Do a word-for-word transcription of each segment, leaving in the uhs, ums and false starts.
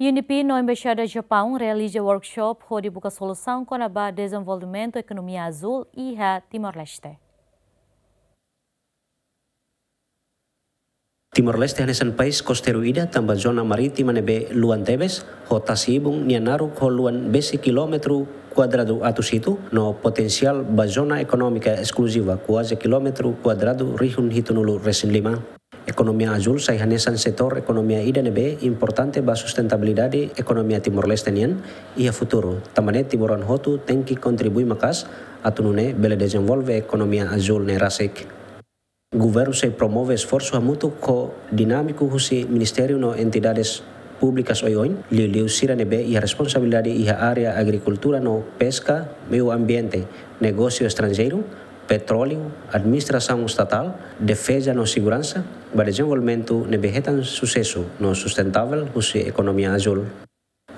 U N D P no Embaixada Japaun realiza workshop hodi buka solusaun kona-ba dezenvolvimentu ekonomia azúl iha Timor-Leste. Timor-Leste hanesan país kosteiru ida tanba zona marítima ne'ebé luan tebes, ho tasi-ibun nia naruk ho luan besik kilómetru kuadradu atus hitu, no potensiál ba zona ekonómika eskluziva kuaze kilómetru kuadradu rihun hitunulu resin lima. Ekonomia azúl sai hanesan setór ekonomia ida ne'ebé importante ba sustentabilidade ekonomia Timor-Leste nian iha futuru. Tanba ne'e timoroan hotu tenke kontribui maka'as atu nune'e bele dezenvolve ekonomia azúl ne'e rasik. Governu sei promove esforsu hamutuk ho dinámiku husi ministériu no entidades públikas oioin, liuliu sira ne'ebé iha responsabilidade iha área agrikultura no peska, meiu ambiente, negósiu estranjeiru, petróleu, administrasaun estatál, defeza no seguransa, ba dezenvolvimentu ne'ebé hetan susesu no sustentavel husi ekonomia azúl.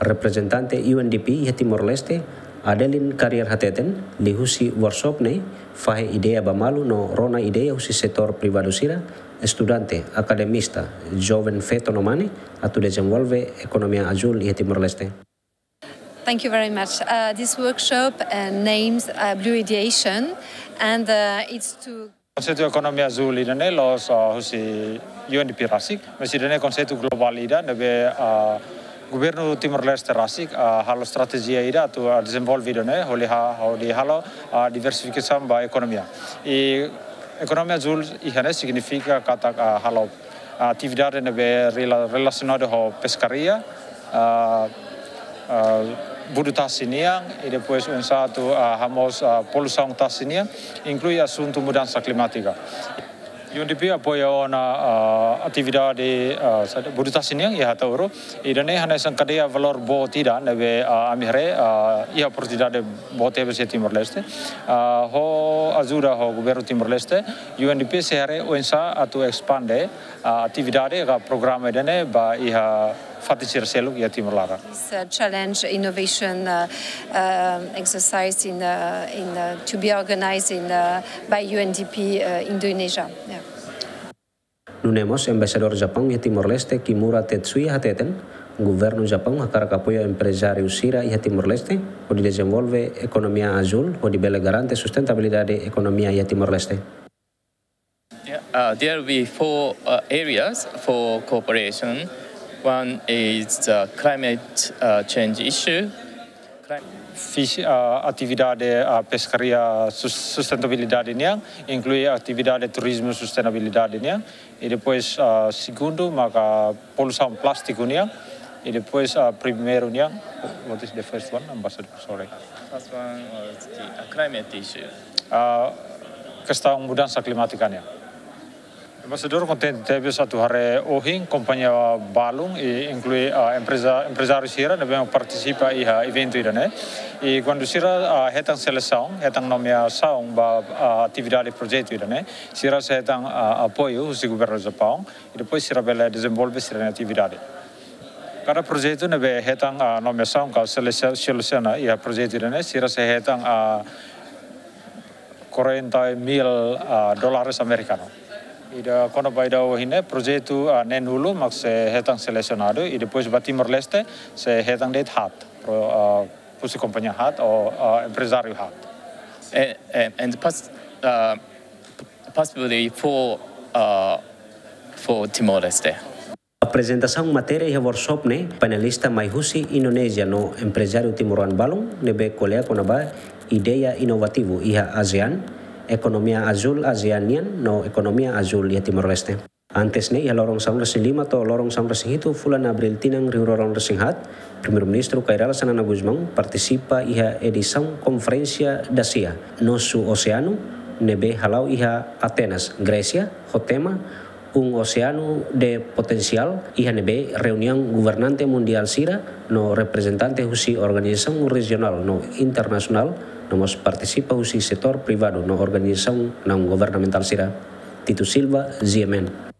Reprezentante U N D P iha Timor-Leste, Adeline Carrier hateten, liuhusi workshop ne'e fahe ideia ba malu no rona ideia husi setór privadu sira, estudante, akademista, joven feto no mane, atu dezenvolve ekonomia azúl iha Timor-Leste. Thank you very much. Uh, this workshop, uh, names, uh, Blue Ideation, and, uh, it's to Konseitu ekonomia azúl ida-ne'e la'ós, ah, husi U N D P rasik, mas ida-ne'e konseitu globál ida ne'ebé, ah, governu Timor-Leste rasik, ah, halo estratéjia ida atu, ah, dezenvolve ida-ne'e, hodi ha-, hodi halo, ah, diversifikasaun ba ekonomia. I ekonomia azúl iha ne'e signifika katak, ah, halo atividade ne'ebé rela-, relasionadu ho peskaria, ah, ah, budu tasi nian, i depois oinsá atu, ah, hamoos, ah, poluisaun tasi nian, inklui asuntu mudansa klimátika. U N D P apoia ona, ah, atividade, ah, sa-, budu tasi nian iha Ataúro. Ida-ne'e hanesan kadeia valór boot ida ne'ebé, ah, ami haree, ah, iha oportunidade boot tebes iha Timor-Leste. Ah, ho ajuda ho governu Timor-Leste, U N D P sei haree oinsá atu espande, ah, atividade ka programa ida-ne'e ba iha fatin sira seluk iha Timor laran. This, uh, challenge innovation, uh, um, exercise in, uh, in, uh, to be organized in, uh, by U N D P, uh, Indonesia. Yeah. Nune'e mós Embaixadór Japaun iha Timor-Leste, Kimura Tetsuya hateten, governu Japaun hakarak apoiu emprezáriu sira iha Timor-Leste hodi dezenvolve ekonomia azúl hodi bele garante sustentabilidade ekonomia iha Timor-Leste. Yeah, uh, there will be four, uh, areas for cooperation. One is the climate, uh, change issue. Clim- Fis-, uh, atividade, uh, peskaria sus-, sustentabilidade nian, inklui atividade turizmu sustentabilidade nian. I depois, uh, segundu maka poluisaun plástiku nian. I depois, ah, primeiru nian, what is the first one, Ambassador? Sorry. First one was the, uh, climate issue. Ah, kestaun mudansa klimátika nian. Embaixadór kontente tebes atu haree ohin kompañia balun i inklui, ah, empreza, emprezáriu sira ne'ebé partisipa iha eventu ida-ne'e. I kuandu sira, ah, hetan selesaun, hetan nomeasaun ba, ah, atividade projetu ida-ne'e, sira sei hetan, ah, apoiu husi governu Japaun. I depois sira bele dezenvolve sira-nia atividade. Kada projetu ne'ebé hetan, ah, nomeasaun ka selese-, selesiona iha projetu ida-ne'e, sira sei hetan, ah, quarenta mil, ah, dólares amerikanu. Ida kona-ba ida ohin ne'e projetu, ah, neen-nulu mak sei hetan selesionadu, i depois ba Timor-Leste sei hetan de'it haat, pro, ah, husi kompañia haat ou, ah, emprezáriu haat. Eh, eh, and pos-, uh, p-, possibly for, uh, for Timor-Leste. Aprezentasaun matéria iha workshop ne'e, painelista mai husi Indonézia no emprezáriu timoroan balun ne'ebé ko'alia kona-ba ideia inovativu iha ASEAN, ekonomia azúl ASEAN nian no ekonomia azúl iha Timor-Leste. Antes ne'e, iha loron sanulu-resin-lima to'o loron sanulu-resin-hitu fulan Abríl tinan rihun rua ruanulu-resin-haat, Primeiru-Ministru Kay Rala Xanana Gusmão partisipa iha edisaun Konferénsia Dasia, Nosso Oceano, ne'ebé hala'o iha Atenas, Grésia, ho tema Un Oceano de Potencial, iha ne'ebé reuniaun governante mundiál sira no reprezentante husi organizasaun rejionál no internasionál, no mós partisipa husi setór privadu no organizasaun naun-governamentál sira. Tito Silva, G M N.